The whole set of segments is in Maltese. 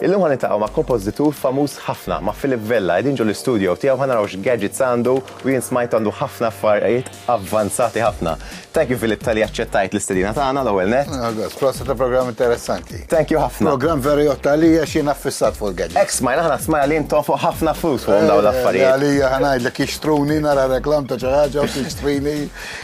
Illum ħa niltaqgħu ma' kompożitur famuż ħafna, ma' Philip Vella. Qegħdin ġo l-istudio tiegħu ħa naraw x'gadgets għandu u jien smajt għandu ħafna affarijiet avvanzati ħafna. Thank you Philip talli aċċettajt l-istedina tagħna l-ewwel nett. Għagos, proset ta' programm interessanti. Thank you ħafna. Programm veru jgħodd għalija xi jiena ffissat fuq il-gadgets. Hekk smajna, aħna smajna li intom fuq ħafna flus fuqhom dawn l-affarijiet. Għalija ħa ngħidlek jixtruni nara reklam ta' xi ħaġa u tixtrini.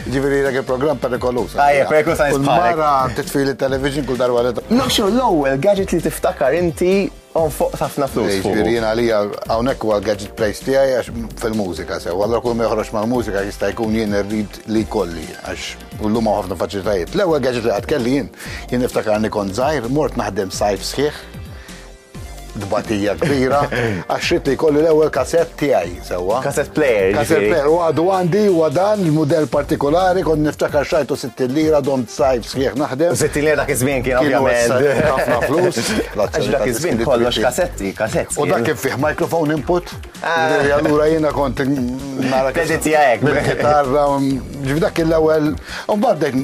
Ġifieri dak il-programm perikoluż. Ajja, perikoluż għal bħalek. Mara titfili television kull darba li. No, xo l-ewwel gadget li tiftakar inti on fuq ħafna flus. Ġifieri jien għalija hawnhekk huwa l-gadget place tiegħi għax fil-mużika sew. Allura kull ma joħroġ mal-mużika jista' jkun jien irrid li jkolli għax llum hawn ħafna faċilitajiet. L-ewwel gadget li qatt kelli jien, jien niftakarni kont żgħir, mort naħdem sajf sħiħ tbatija kbira, għax ridt li jkolli l-ewwel kasett tiegħi sewwa. Cassette player. Cassette player, u għadu għandi huwa dan il-mudell partikolari, kont niftakar xajtu 60 lira domt sajf sħiħ naħdem. 60 lira dak iż-żmien kien ovvjament. Ħafna flus. Għax dak iż-żmien kollox kassetti, kassetti. U dak kien fih microphone input. Ah. Allura jiena kont nara. Teditja hekk. Bil-kitarra, ġifi dak l-ewwel. U mbagħad eh,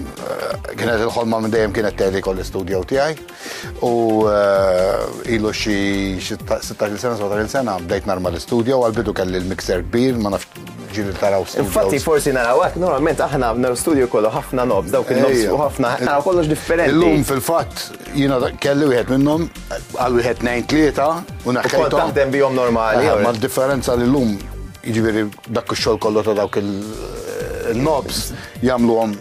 kienet il-ħolma minn dejjem kienet teli kolli studio tiegħi. U eh, ilu xi 16 sena, 17 sena bdejt narma l-istudio, għal-bidu kelli l-mixer kbir, ma nafx ġili taraw studio. Infatti forsi naraw hekk, normalment aħna naraw studio kollu ħafna nobs, dawk il-nobs u ħafna, naraw kollox differenti. Illum fil-fatt jiena kelli wieħed minnhom għal wieħed nejn tlieta u naħħejthom. Kont taħdem bihom normali. Ma differenza li llum jiġifieri dak ix-xogħol kollu ta' dawk il-nobs jagħmluhom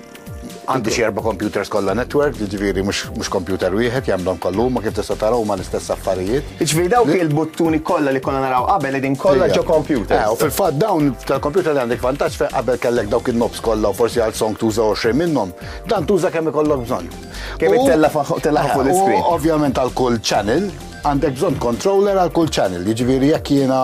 Għandi xi erba' computers kollha network, jiġifieri mhux computer wieħed jagħmlhom kollu huma kif tista' tara huma l-istess affarijiet. Jiġifieri dawk il-buttuni kollha li konna naraw qabel qegħdin kollha ġo computer. Eh, u fil-fatt dawn tal-computer li għandek vantaġġ fejn qabel kellek dawk in-knobs kollha u forsi għal song tuża 20 minnhom, dan tuża kemm ikollok bżonn. Kemm ittella' fuq l-iscreen. Ovvjament għal kull channel għandek bżonn controller għal kull channel, jiġifieri jekk jiena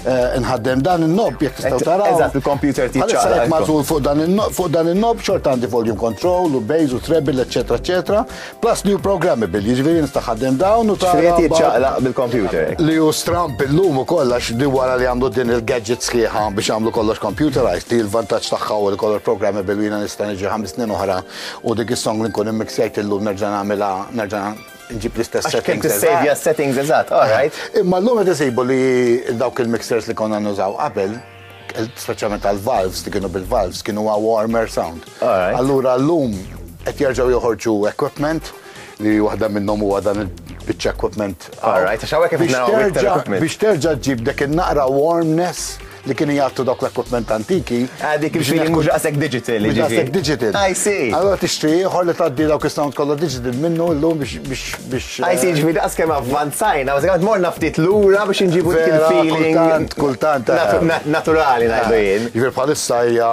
eh, nħaddem dan in-nob jekk tistgħu taraw. Eżatt, il-computer tiċċaqlaq. Għalissa magħżul fuq dan fuq dan in-nob xorta għandi volume control u bass u treble, eċetera, eċetera. Plus new programmable, jiġifieri nista' ħaddem dawn u tara. Ġifieri jiċċaqlaq bil-computer. Li hu stramp illum ukoll għax di wara li għamlu din il-gadget sħiħa biex għamlu kollox computerized, li l-vantaġġ tagħha u li kollox programmable u jiena nista' niġi ħames snin oħra u dik is-song li nkun immixjajt illum nerġa' nagħmilha nerġa' nġib l-istess settings. Kien tissejvja settings eżatt, all right. Imma llum qed isibu li dawk il-mixers li konna nużaw qabel, speċjalment għal-valves li kienu bil-valves, kienu a warmer sound. Allura llum qed jerġgħu joħorġu equipment li waħda minnhom huwa dan il-biċċa equipment. All right, għax hawnhekk qed naraw Biex terġa' ġġib dak in-naqra warmness li kienu jgħattu dawk l-equipment antiki. Ah, dik il-feeling mhux daqshekk digital. Mhux daqshekk digital. I see. Allora tixtri ieħor li tgħaddi dawk is-sound kollha digital minnu llum biex biex biex. I see, ġifieri daqs kemm avvanzajna, bażikament morna ftit lura biex inġibu dik il-feeling. Kultant, kultant. Eh. Naturali ngħidu jien. Ġifieri bħalissa hija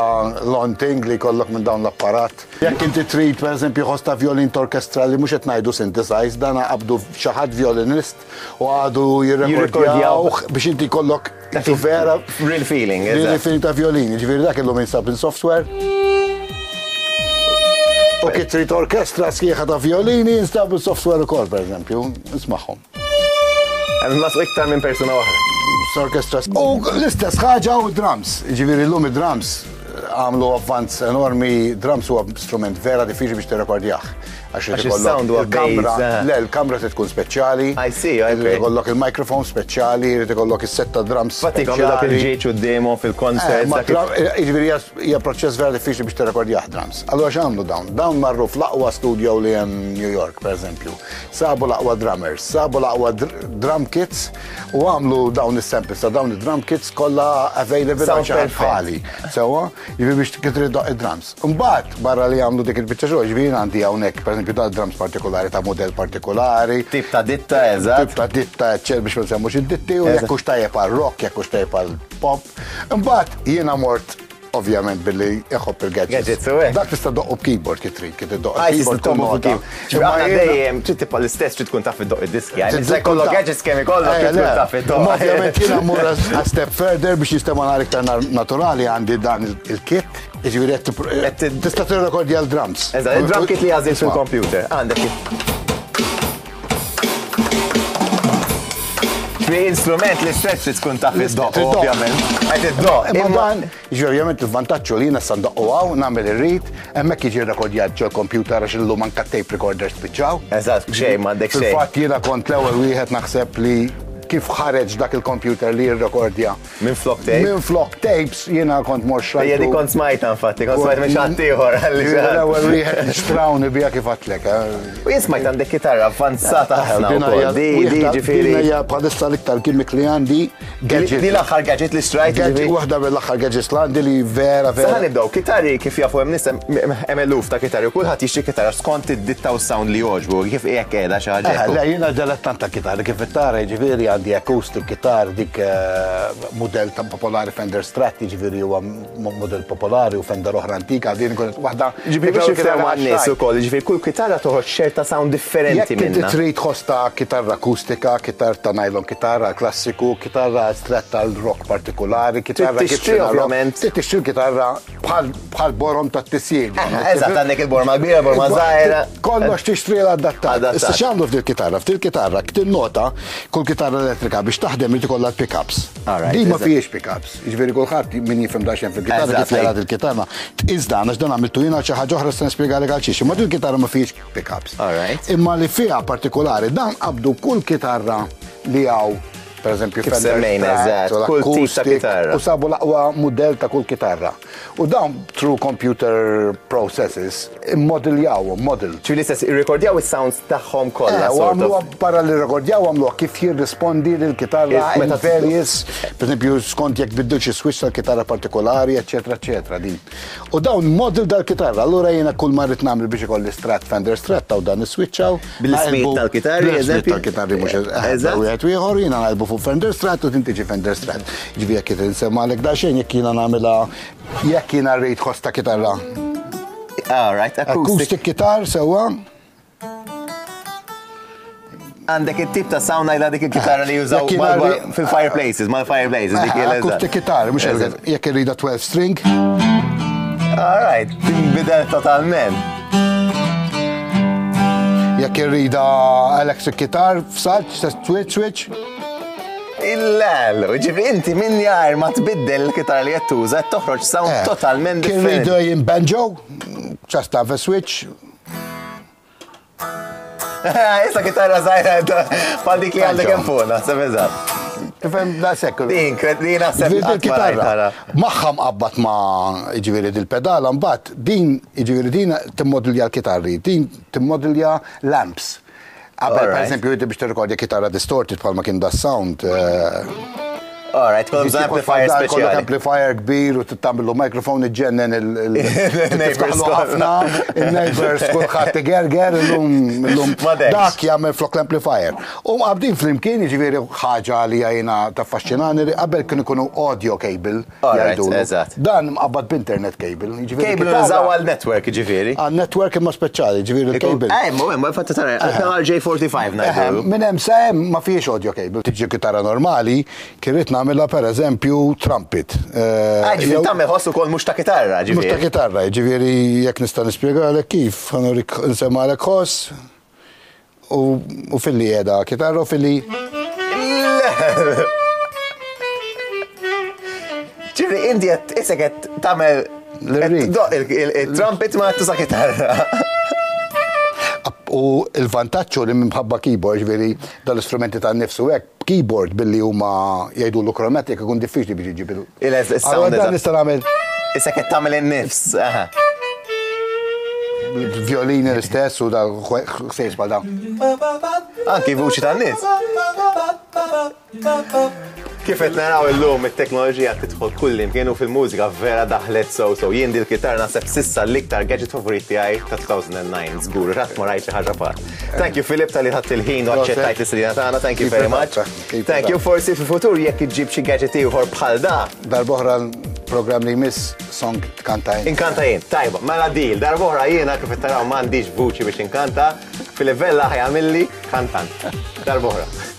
long thing li jkollok minn dawn l-apparat. Jekk inti trid pereżempju ħoss ta' violin orkestra li mhux qed ngħidu synthesized, dan qabdu xi ħadd violinist u għadu jirrekordjawh biex inti jkollok Dak vera. Real feeling. Real feeling ta' violin, ġifieri dak illum jinsab in software. U kif trid orkestra sħiħa ta' violini jinstab in software ukoll, pereżempju, nismagħhom. Hemm mas iktar minn persuna waħda. Orkestra. U l-istess ħaġa u drums. Ġifieri llum id-drums għamlu avvanz enormi, drums huwa strument vera diffiċli biex tirrekordjah. Għax irid ikollok il-kamra, eh. le, l-kamra trid tkun speċjali. I see, okay. Irid ikollok il-microphone speċjali, irid ikollok is-set ta' drums. Fatti jkollok dak il-ġieġ u demo fil-concert. Eh, eh, jiġifieri hija proċess vera diffiċli biex tirrekordjah drums. Allura x'għamlu dawn? Dawn marru fl-aqwa studio li hemm New York, pereżempju. Sabu l-aqwa drummers, sabu l-aqwa drum kits u għamlu dawn is-samples ta' dawn id-drum kits kollha available għal xi ħadd bħali. Sewwa, jiġifieri biex trid id-drums. Imbagħad, barra li jagħmlu dik il-biċċa xogħol, ġifieri jien għandi hawnhekk, pereżempju, dan drums partikolari ta' mudell partikolari. Tip ta' ditta, eżatt. Tip ta' ditta, eċċetera, biex ma nsemmux id-ditti, u jekk hux tajjeb għal rock, jekk hux tajjeb għal pop. Imbagħad jiena mort ovvjament billi iħobb il-gadgets. Gadgets, u hekk. Dak tista' doqqu b'keyboard kif trid, kif iddoqq Ah, il-keyboard tista' kull tobbu nota. fuq Imma dejjem trid tibqa' l-istess trid tkun taf iddoq id-diski. Trid ikollok gadgets kemm ikollok trid tkun taf iddoq. Imma ovvjament jiena mmur a step further biex jistema' nhar iktar naturali għandi dan il-kit Jiġifieri qed tista' tirrekordja l-drums. Eżatt, il-drum kit li għażilt fil-computer. Għandek. Fi instrument l-istess li tkun taf id-doq, ovvjament. Qed iddoq. Imma dan, jiġifieri ovvjament il-vantaġġ li jiena sa ndoqqu hawn, nagħmel irrid, hemmhekk jiġi rrekordjat ġol computer għax illum anke tape recorders spiċċaw. Eżatt, xejn m'għandek xejn. Fil-fatt jiena kont l-ewwel wieħed naħseb li kif ħareġ dak il-computer li jirrekordja. Minn flok tapes? Minn flok tapes jiena kont mor xrajtu. Ejja di kont smajta infatti, kont smajt minn xi ieħor għalli. L-ewwel wieħed li xtrawni biha kif għadtlek. U jien smajt għandek kitarra avvanzata ħafna wkoll. Di di ġifieri. Din hija bħalissa l-iktar gimmick li għandi. Gadget. Di l-aħħar gadget li xtrajt. Gadget waħda mill-aħħar gadgets li għandi li vera vera. Sa nibdew, kitarri kif jafu hemm nies hemm eluf ta' kitarri u kulħadd jixtri kitarra skont id-ditta u s-sound li jogħġbu, kif hekk qiegħda xi ħaġa hekk. Le jiena dilettant ta' kitarri kif tara jiġifieri għandi acoustic guitar dik mudell ta' popolari Fender Strat jiġifieri huwa mudell popolari u Fender oħra antika, din kienet waħda. Ġifieri biex nifhmu għan-nies ukoll, ġifieri kull kitarra toħroġ ċerta sound differenti Jekk inti trid ħoss ta' kitarra akustika, kitarra ta' nylon kitarra klassiku, kitarra stretta għal rock partikolari, kitarra Trid tixtri ovvjament. Trid tixtri kitarra bħal borom ta' tisjir. Eżatt, għandek il-borma kbira, borma żgħira. Kollox tixtri l-adattat. Issa x'għamlu f'dil kitarra? F'dil kitarra tinnota kull kitarra elettrika biex taħdem irid ikollha l-pickups. Din ma fihiex pickups. Jiġifieri kulħadd min jifhem daqsxejn fil-kitarra kif jara il-kitarra. Tqis dan għax dan għamiltu jiena xi ħaġa oħra se nispjegalek għal xiex. Imma din kitarra ma fihiex pickups. Imma li fiha partikolari dan qabdu kull kitarra li hawn per eżempju, Kif semmejna, eżatt, kull tip ta' kitarra. U sabu l-aqwa mudell ta' kull kitarra. U dawn through computer processes immodeljawhom, model. Ċi l-istess irrekordjaw is-sounds tagħhom kollha. U għamluha barra li rrekordjaw għamluha kif jirrispondi lill-kitarra in various, per eżempju, skont jekk tbiddilx is-switch tal-kitarra partikolari, eċetera, eċetera din. U dawn model dal-kitarra, allura jiena kull ma rrid nagħmel biex ikolli Strat Fender Strat taw dan is-switch hawn. Bil-ismijiet tal-kitarri, eżempju. Tal-kitarri mhux eżatt. Wieħed ieħor jiena ngħalbu fuq Fender Strat u din tiġi Fender Strat. Ġifieri jekk qed insemmalek daqsxejn jekk jiena nagħmilha jekk jiena rrid ħoss ta' kitarra. All right, acoustic. Acoustic guitar sewwa. Għandek it-tip ta' sound għajla dik il-kitarra li jużaw fil-fireplaces, mal-fireplaces. Dik Acoustic guitar, mhux jekk irrida 12 string. All right, tinbidel totalment. Jekk irrida electric guitar, f'salt, switch, switch. Il-lel, ġifri inti minn jar ma tbiddel il-kitarra li qed tuża toħroġ sound eh, totalment differenti. Kien jien banjo, just have a switch, Issa kitarra zaħira bħal dik li għandek hemm fuq, naħseb eżatt. Tifhem da sekk. Din, din naħseb il-kitarra. Magħha mqabbad ma' jiġifieri dil-pedala mbagħad din jiġifieri din timmodilja l-kitarri, din timmodilja l-amps. Qabel, per eżempju, inti biex tirrekordja kitarra distorted bħalma kien da sound. Eh, Alright, kollok bżonn amplifier speċjali. Kollok amplifier kbir u tagħmlu microphone iġġennen il-neighbors ħafna, il-neighbors kulħadd igerger illum illum dak jagħmel flok l-amplifier. U mqabdin flimkien jiġifieri ħaġa li jiena taffaxxinani li qabel kienu ikunu audio cable jgħidulu. Dan mqabbad b'internet cable. Jiġifieri cable nużaw għal network jiġifieri. Għal network imma speċjali, jiġifieri il-cable. Eh, imma hemm fatta tara RJ45 ngħidu. Minn hemm sa hemm ma fihiex audio cable. Tiġi kitarra normali, Kien ridt nagħmilha pereżempju trumpet. Ah, ġifieri tagħmel ħoss ukoll mhux ta' kitarra, ġifieri. Mhux ta' kitarra, ġifieri jekk nista' nispjegalek kif, ħa nurik nsemmalek ħoss u filli qiegħda kitarra u filli. Ġifieri inti qed isek qed tagħmel il-trumpet ma tuża kitarra. U l-vantaġġ li minħabba keyboard, ġifieri dal-istrumenti tan-nifs u hekk, B'keyboard billi huma jgħidulu chromatic ikun diffiċli biex iġġib il. Il-sound. Dan nista' nagħmel. Issa qed tagħmel in-nifs. Violini l-istess u da ħsejs bħal dawn. Anki vuċi tan-nies. Kif qed naraw illum it-teknoloġija tidħol kullimkien u fil-mużika vera daħlet sew sew. Jien dil-kitarra naħseb s'issa l-iktar gadget favorit tiegħi ta' 2009 żgur, qatt ma rajt xi ħaġa bħal. Thank you Philip talli ħadt il-ħin u aċċettajt l-istedina tagħna, thank you very much. Thank you, forsi fil-futur jekk iġġib xi gadget ieħor bħal da. Darb'oħra l-programm li jmiss song tkanta int. Inkanta jien, tajba, mela deal, darb'oħra jiena kif qed taraw m'għandix vuċi biex inkanta, Philip Vella ħa jagħmilli kantant. Darb'oħra.